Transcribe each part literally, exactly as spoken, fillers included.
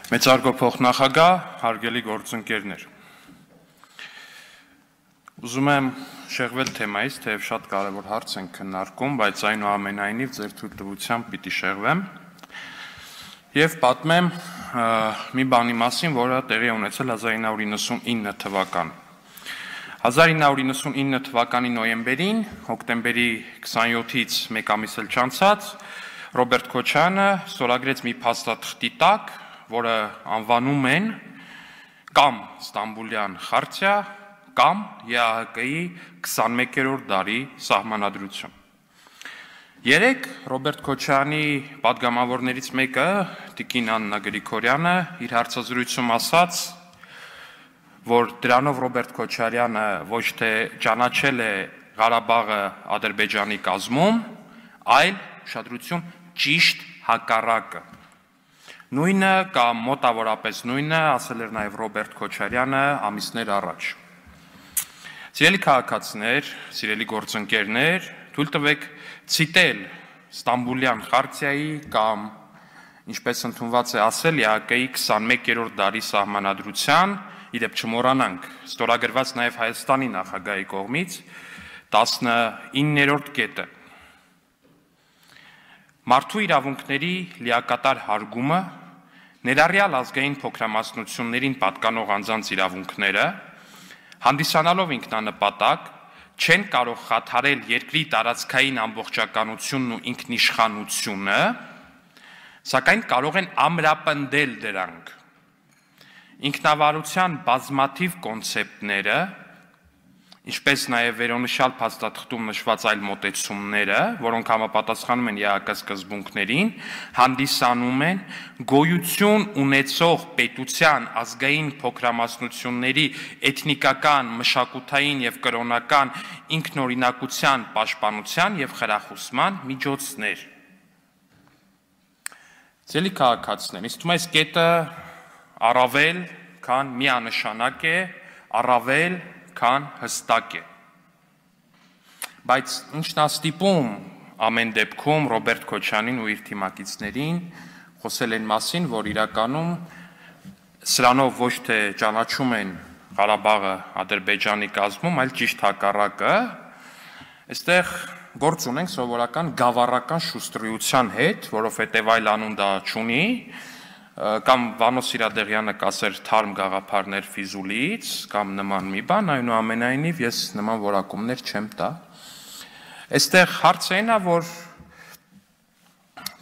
Մեծարգո փոխնախագահ, հարգելի գործընկերներ, ուզում եմ շեղվել թեմայից, թեև շատ կարևոր հարց ենք քննարկում, բայց այնուամենայնիվ ձեր թույլտվությամբ պիտի շեղվեմ եւ պատմեմ մի բանի մասին, որը տեղի ունեցել հազար ինը հարյուր իննսունինը թվականին։ հազար ինը հարյուր իննսունինը թվականի նոյեմբերին, հոկտեմբերի քսանյոթից մեկ ամիս էլ չանցած, Ռոբերտ Քոչարյանը ստորագրեց մի փաստաթղթի տակ, որը անվանում են կամ Ստամբուլյան խարտիա, կամ ԵԱՀԿ-ի քսանմեկերորդ դարի սահմանադրություն։ Երեկ Ռոբերտ Քոչարյանի պատգամավորներից մեկը, Տիկին Աննա Գրիգորյանը, իր հարցազրույցում ասաց, որ դրանով Ռոբերտ Քոչարյանը ոչ թե ճանաչել է Ղարաբաղը Ադրբեջանի կազմում, այլ ուշադրություն ճիշտ հակառակը։ Նույնը կամ մոտավորապես նույնը ասել էր նաև Ռոբերտ Քոչարյանը ամիսներ առաջ։ Սիրելի քաղաքացիներ, սիրելի գործընկերներ, թույլ տվեք ցիտել Ստամբուլյան խարտիայի կամ, ինչպես ընդունված է ասել, ԵԱՀԿ-ի քսանմեկերորդ դարի սահմանադրության, իդեպ չմոռանանք, ստորագրված նաև Հայաստանի նախագահի կողմից տասնիններորդ կետը։ Մարդու իրավունքների լիակատար հարգումը, ներառյալ ազգային փոքրամասնություններին պատկանող անձանց իրավունքները, հանդիսանալով ինքնանպատակ, չեն կարող խաթարել երկրի տարածքային ամբողջականությունն ու ինքնիշխանությունը, սակայն կարող են ամրապնդել դրանք։ Ինքնավարության բազմաթիվ կոնցեպտները, ինչպես նաև վերոնշյալ փաստաթղթում նշված այլ մոտեցումները, որոնք համապատասխանում են ԵԱՀԿ սկզբունքներին, հանդիսանում են գոյություն ունեցող պետության ազգային փոքրամասնությունների էթնիկական, մշակութային եւ կրոնական ինքնօրինակության պաշտպանության եւ խրախուսման միջոցներ։ Սիրելի քաղաքացիներ, ինձ թվում է այս կետը առավել քան միանշանակ է, առավել քան հստակ է։ Բայց ինչն է ստիպում ամեն դեպքում Ռոբերտ Քոչարյանին ու իր թիմակիցներին խոսել այն մասին, որ իրականում սրանով ոչ թե ճանաչում են Ղարաբաղը Ադրբեջանի կազմում, այլ ճիշտ հակառակը, այստեղ գործ ունենք սովորական գավառական շուստրիության հետ, որովհետև այլ անուն դա չունի, կամ Վանո Սիրադեղյանը կասեր թարմ գաղափարներ Ֆիզուլիից, կամ նման մի բան, այնուամենայնիվ ես նման որակումներ չեմ տա։ Այստեղ հարցը այն է, որ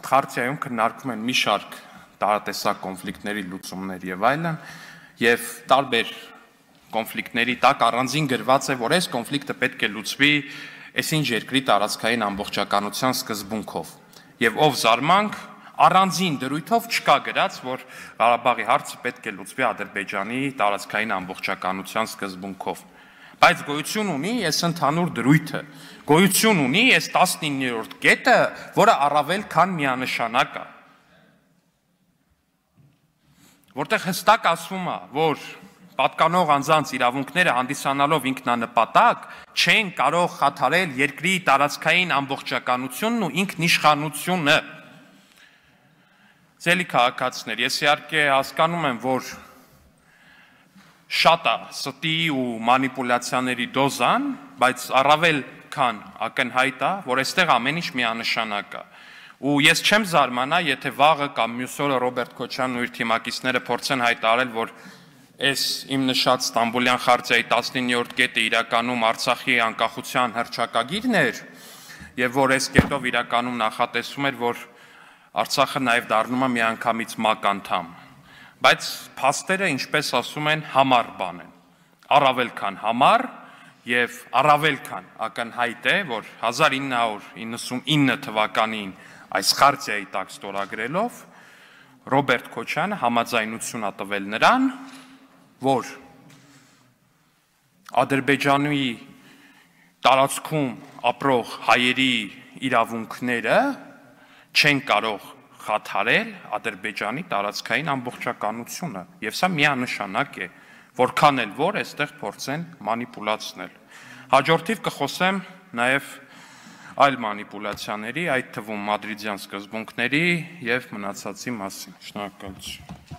խարտիայում քննարկվում են մի շարք տարատեսակ կոնֆլիկտների լուծումներ եւ այլն, եւ տարբեր կոնֆլիկտների տակ առանձին գրված է, որ այս կոնֆլիկտը պետք է լուծվի այսինչ երկրի տարածքային ամբողջականության սկզբունքով։ Եվ ով զարմանք, առանձին դրույթով չկա գրած, որ Ղարաբաղի հարցը պետք է լուծվի Ադրբեջանի տարածքային ամբողջականության սկզբունքով։ Բայց գոյություն ունի այս ընդհանուր դրույթը, գոյություն ունի այս տասնիններորդ կետը, որը առավել քան միանշանակ է, որտեղ հստակ ասվում է, որ պատկանող անձանց իրավունքները հանդիսանալով ինքնանպատակ չեն կարող խաթարել երկրի տարածքային ամբողջականությունն ու ինքնիշխանությունը։ Սիրելի քաղաքացիներ, ես իհարկե հասկանում եմ, որ շատ է ստի ու մանիպուլյացիաների դոզան, բայց առավել քան ակնհայտ է, որ այստեղ ամեն ինչ միանշանակ է։ Ու ես չեմ զարմանա, եթե վաղը կամ մյուս օրը Ռոբերտ Քոչարյանն ու իր թիմակիցները փորձեն հայտարարել, որ այս իմ նշած Ստամբուլյան խարտիայի տասնիններորդ կետը իրականում Արցախի անկախության հռչակագիրն էր, եւ որ այս կետով իրականում նախատեսում էր, որ Արցախը նաև դառնում է միանգամից ՄԱԿ անդամ, բայց փաստերը, ինչպես ասում են, համառ բան են, առավել քան համառ եւ առավել քան ակնհայտ է, որ հազար ինը հարյուր իննսունինը թվականին այս խարտիայի տակ ստորագրելով Ռոբերտ Քոչարյանը համաձայնություն է տվել նրան, որ Ադրբեջանի տարածքում ապրող հայերի իրավունքները չեն կարող խաթարել Ադրբեջանի տարածքային ամբողջականությունը, եւ սա միանշանակ է, որքան էլ որ այստեղ փորձեն մանիպուլացնել։ Հաջորդիվ կխոսեմ նաեւ այլ մանիպուլյացիաների, այդ թվում մադրիդյան սկզբունքների եւ մնացածի մասին։ Շնորհակալություն։